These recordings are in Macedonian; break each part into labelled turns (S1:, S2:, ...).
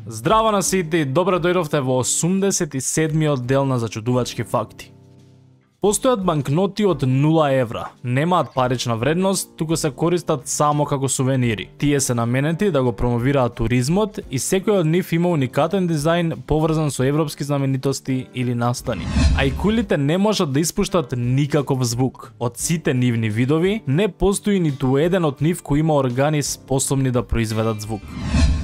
S1: Здраво на сите и добро дојдовте во 87-миот дел на Зачудувачки факти. Постојат банкноти од 0 евра. Немаат парична вредност, туку се користат само како сувенири. Тие се наменети да го промовираат туризмот и секој од нив има уникатен дизајн поврзан со европски знаменитости или настани. Ајкулите не можат да испуштат никаков звук. Од сите нивни видови, не постои ниту еден од нив кој има органи способни да произведат звук.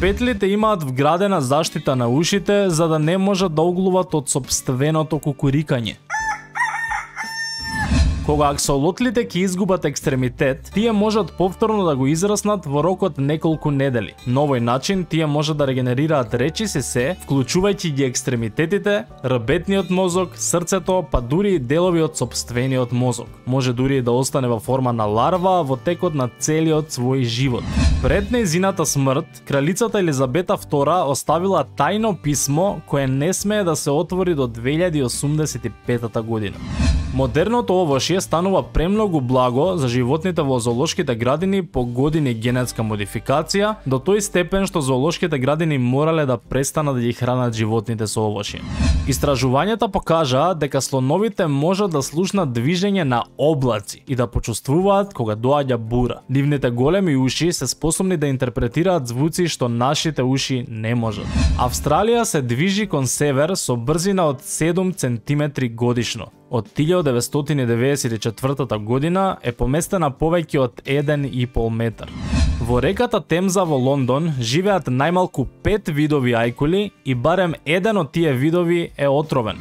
S1: Петлите имаат вградена заштита на ушите за да не можат да оглуват од сопственото кукурикање. Кога аксолотлите ќе изгубат екстремитет, тие можат повторно да го израснат во рокот неколку недели. На овој начин тие можат да регенерираат речиси се, вклучувајќи ги екстремитетите, рбетниот мозок, срцето, па дури и делови од сопствениот мозок. Може дури и да остане во форма на ларва во текот на целиот свој живот. Пред нејзината смрт, кралицата Елизабета II оставила тајно писмо кое не смее да се отвори до 2085 година. Модерното овошје станува премногу благо за животните во зоолошките градини по години генетска модификација, до тој степен што зоолошките градини морале да престанат да ги хранат животните со овошје. Истражувањата покажаа дека слоновите можат да слушнат движење на облаци и да почувствуваат кога доаѓа бура. Нивните големи уши се способни да интерпретираат звуци што нашите уши не можат. Австралија се движи кон север со брзина од 7 центиметри годишно. Од 1994 година е поместена повеќе од 1,5 метар. Во реката Темза во Лондон живеат најмалку 5 видови ајкули и барем еден од тие видови е отровен.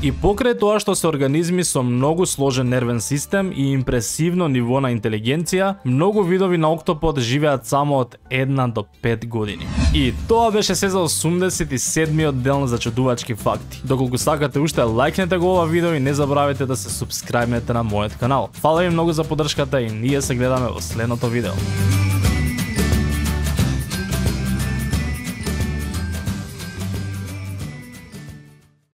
S1: И покрај тоа што се организми со многу сложен нервен систем и импресивно ниво на интелигенција, многу видови на октопод живеат само од 1 до 5 години. И тоа беше се за 87-миот дел на Зачудувачки факти. Доколку сакате уште, лајкнете го ова видео и не забравете да се супскрајбнете на мојот канал. Фала ви многу за поддршката и ние се гледаме во следното видео.